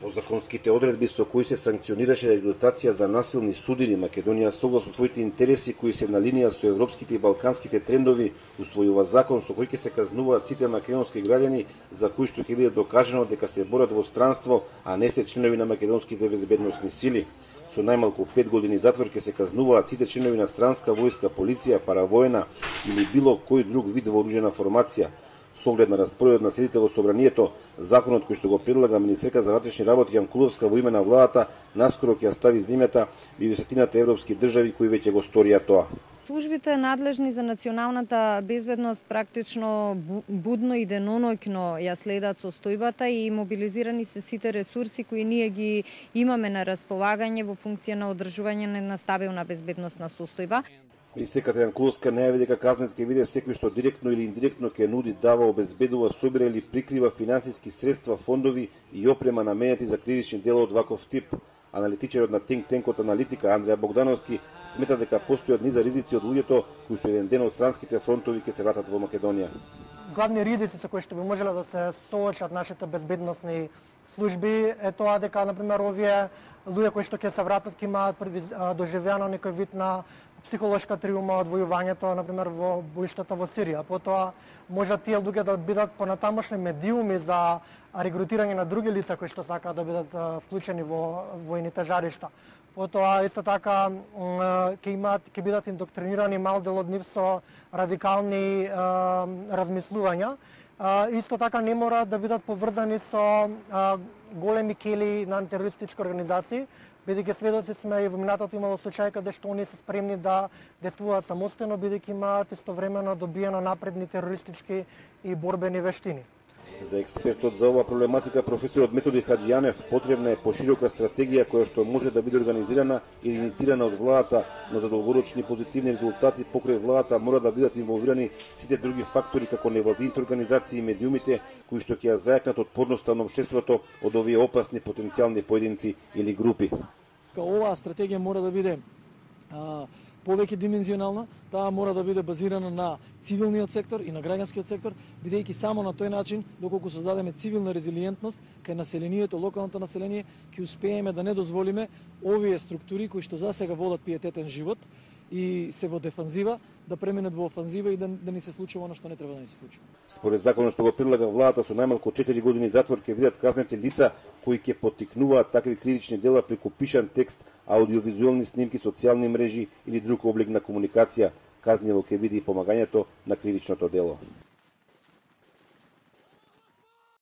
По законските одредби со кои се санкционираше реабилитација за насилни судири, Македонија согласно своите интереси кои се на линија со европските и балканските трендови, усвојува закон со кој ќе се казнуваат сите македонски граѓани за кои што ќе биде докажано дека се борат во странство, а не се членови на македонските безбедносни сили. Со најмалку 5 години затвор ќе се казнуваат сите членови на странска војска, полиција, паравоена или било кој друг вид вооружена формација. Со оглед на распоредот на седите во собранието, законот кој што го предлага министерка за внатрешни работи Јанкуловска во име на владата наскоро ќе ја стави земјата во десетината европски држави кои веќе го сторија тоа. Службите надлежни за националната безбедност практично будно и деноноќно ја следат состојбата и мобилизирани се сите ресурси кои ние ги имаме на располагање во функција на одржување на стабилна безбедносна состојба. Министерката Јанкуловска најави дека казнет ќе биде секој што директно или индиректно ќе нуди, дава, обезбедува, собира или прикрива финансиски средства, фондови и опрема наменети за кривични дела од ваков тип. Аналитичарот на think tank-от Аналитика Андреја Богдановски смета дека постојат низа ризици од луѓето кои што еден ден од странските фронтови ќе се вратат во Македонија. Главни ризици со кои што би можеле да се соочат нашите безбедносни служби е тоа дека, например, овие луѓе кои што ќе се вратат ќе имаат доживеано некој вид на психолошка травма од војувањето, например, во боиштата во Сирија. Потоа можат тие луѓе да бидат понатамошни медиуми за регрутирање на други лица кои што сакаат да бидат вклучени во војните жаришта. Потоа исто така ќе бидат индоктринирани мал дел од нив со радикални размислувања. Исто така не мора да бидат поврзани со големи кели на антитерористички организации, бидејќи сведоци сме и во минатото имало случаи каде што они се спремни да действуваат самостојно, бидејќи имаат истовремено добиено напредни терористички и борбени вештини. За експертот за оваа проблематика, професорот Методи Хаџијанев, потребна е поширока стратегија која што може да биде организирана или инициирана од владата, но за долгорочни позитивни резултати покрај владата мора да бидат инволвирани сите други фактори како невладините организации и медиумите кои што ќе ја зајакнат отпорноста на општеството од овие опасни потенцијални поединци или групи. Оваа стратегија мора да биде повеќе димензионална, таа мора да биде базирана на цивилниот сектор и на граѓанскиот сектор, бидејќи само на тој начин, доколку создадеме цивилна резилиентност кај населението, локалното население, ќе успееме да не дозволиме овие структури кои што засега водат пиететен живот и се во дефанзива, да преминат во офанзива и да ни се случува она што не треба да ни се случува. Според законот што го предлага владата, со најмалку 4 години затвор ќе бидат казнети лица кои ќе поттикнуваат такви кривични дела преку пишан текст, аудиовизуелни снимки, социјални мрежи или друг облик на комуникација. Казниво ќе биде и помагањето на кривичното дело.